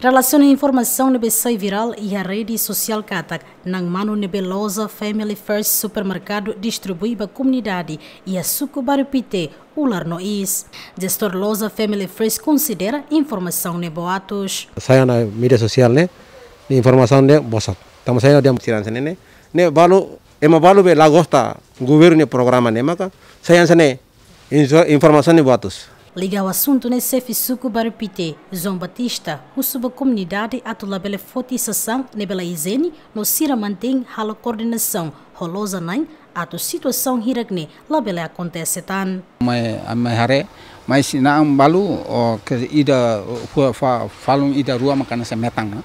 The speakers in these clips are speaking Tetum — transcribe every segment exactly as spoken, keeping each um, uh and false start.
Relasiona informasaun ne'ebé sai virál iha rede sosiál katak na'an-manu ne'ebé loja Family First Supermerkadu distribui ba komunidade iha suku Bairru Pité, ular no iis. Jestór loja Family First konsidera informasaun ne'e boatus. Sai iha média sosiál ne'e, ne'e informasaun ne'e bosok. Tanba sai iha dia tiran sene ne'e, ne'e balu, ema balu be la gosta governu nia programa ne'e maka sai iha sene, inso-, informasaun ne'e boatus. Liga ho asuntu ne'e, xefe suku Bairru Pité, João Batista, husu ba komunidade atu labele foti sasán ne'ebé la ijiene no sira mantein halo koordenasaun ho loja na'in atu situasaun hirak ne'e labele akontese tan. Mai, mai haree, mai si na'an balu, o, ke ida, fua, fa-, falun ida rua maka hanesan metan, ha?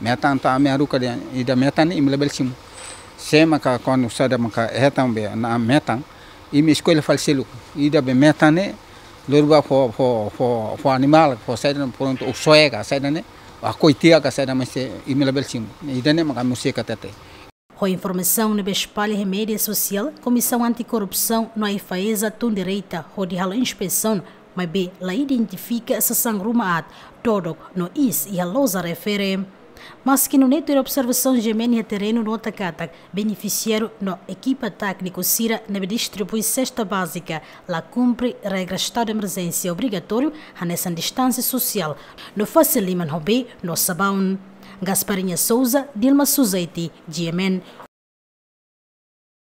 Metan atu ami haruka dehan ida metan ne'e imi labele simu. Se maka kuandu saida maka hetan be na'an metan, imi eskolla fali seluk. Ida be metan ne'e, lori ba fó, fó, fó, fó animál, fó saida prontu, ou soe ka saida ne'e, akoi tiha ka saida, mas se imi labele simu. Ida ne'e maka ami husik hatete. Ho informasaun ne'ebé espalla iha média sosiál, Komisaun Anti-Korrupsaun no AIFAESA tun direta hodi halo inspesaun, maibé la identifika sasán ruma aat, dodok no iis iha loja refere. Maski nune'e, tuir observasaun GMN iha terrenu nota katak benefisiáriu no ekipa tékniku sira ne'ebé distribui sesta bázika la kumpre regra estadu de emerjénsia obrigatóriu, hanesan distánsia sosiál no fase liman ho bee no sabaun. Gasparinha Souza, Dilma Suzaiti, GMN,